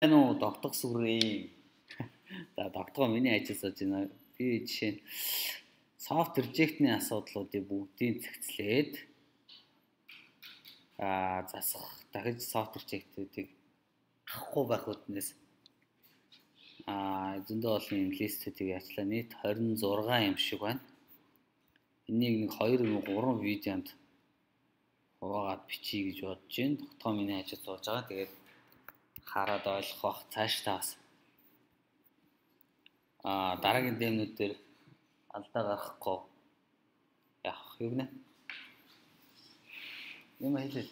Ну тогтох сүрээ. За тогтгоо миний ажил сууж байна. Би жишээ нь soft reject-ний асуудлуудыг бүгдийг зэгцлээд засах дахиж soft reject-үүдийг авахгүй байх үднээс зөндөө олон юм листүүдийг яачлаа нийт 26 юм шиг байна. Энийг нэг 2-3 видеонд хуваагаад бичиж гэж бодож байна. Тогтгоо миний ажил сууж байгаа. Тэгээд хараад ойлгох бах цааш таас дараагийн дэмнүүд дээр алдаа гарахгүй явах юу гэнэ юм хэлээ.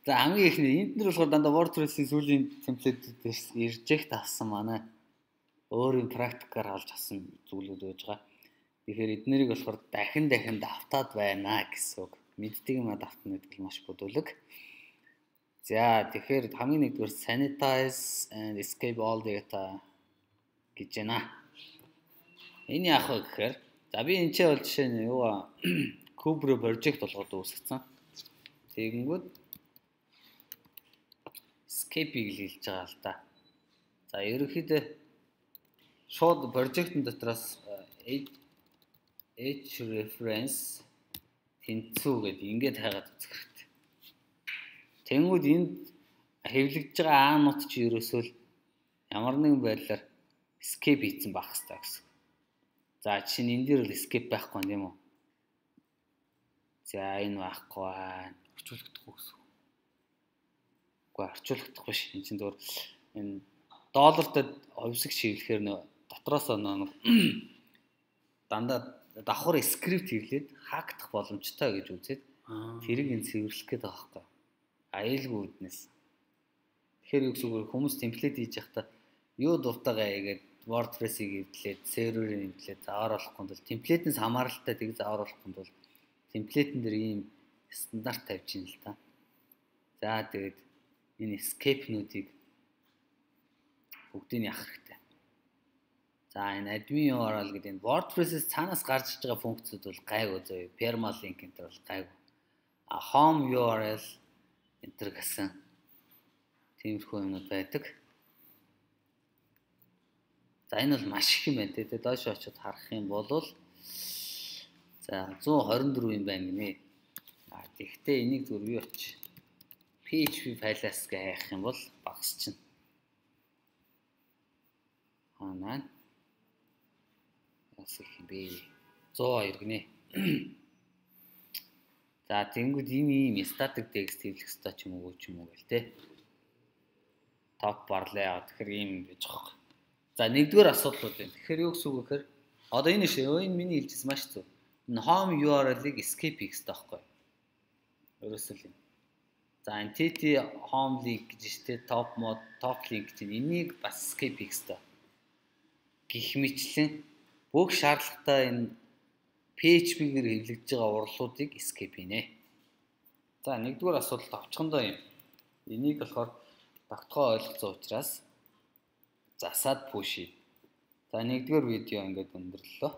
За хамгийн ихний энд нар болохоор дандаа WordPress-ийн сүүлийн темплейтүүдээс reject авсан манай өөрийн практикаар олж авсан зүйлүүд байж байгаа. Тэгэхээр эднэрийг болохоор дахин давтаад байна гэсэн үг. Мэддэг юм давтна гэдэг нь маш бүдүүлэг. За тэгэхээр хамгийн нэгдүгээр sanitize and escape all data гэж байна. Энэ яах вэ гэхээр за би энэ ч бол жишээ нь юу Cobra project болгоод үүсгэсэн. Тэгэнгүүт escape-ийг л хэлж байгаа л да. За ерөнхийдөө шууд project-ын дотроос h reference тэнцүү гэдэг ингээд хайгаад үзэх хэрэгтэй. Тэнгүүд энд хэвлэгдэж байгаа аанууд чи ерөөсөө л ямар нэгэн байдлаар escape хийсэн байх хэрэгтэй гэсэн. За жишээ нь энэ дээр л escape байхгүй юм уу? За энэ байхгүй байна. Орчуулгадахгүй гэсэн. Үгүй орчуулгадахгүй ш. Энэ чинь зөвөр энэ доллартай овсог шивлэхээр нөө дотроос нэг дандаа давхар скрипт хийлээд хаагдах боломжтой гэж үзээд тэрийг энэ цэвэрлэх гээд байгаа байхгүй. Аюулгүй үднэс. Тэгэхээр юу гэсэн үг хүмүүс темплейт хийж явахдаа юу дуртайгаа яагээд WordPress-ийг эвдлээд серверийг эвдлээд заавар болохгүй бол темплейтээс хамааралтай тийг заавар болохгүй бол темплейтэн дээр ийм стандарт тавьж ийн л та. За тэгээд энэ escape-нуудыг бүгдийг яах хэрэгтэй. За энэ admin URL гэдэг энэ WordPress-ээс цаанаас гарч иж байгаа функцүүд бол гайгүй зөө. Permalink энэ бол гайгүй. Home URL энтер гэсэн тиймэрхүү юмнууд байдаг. За энэ бол маш их юм байна. Тэгээд доош очиод харах юм бол за 124 юм байна гинэ. Тэгэхдээ энийг зүрх юу оч PHP файлаас хайх юм бол багс чинь. Манай асах юм бэ. 102 гинэ. За тэнгууд ийм static text хэвлэх ёстой ч юм уу гэл те. Топ барлаа яа тэгэхээр ийм гэж байгаа. За нэгдүгээр асуудлууд байна. Тэгэхээр юу гэсэн үг вэ гэхээр одоо энэ энэ миний хэлжсэн маш зөв. Энэ home URL-ыг escape хийх ёстой байхгүй. Ерөөсөө л юм. За энэ TT home link гэж штэ top link чинь энийг бас escape хийх ёстой. Гэх мэтлэн бүх шаардлагатай энэ PHP-гээр хэвлэгдэж байгаа урлуудыг escape хийнэ. За нэгдүгээр асуудал товчхондоо юм. Энийг болохоор тогтгоо ойлгоцсон учраас засаад push. За нэгдүгээр видео ингээд өндөрлөө.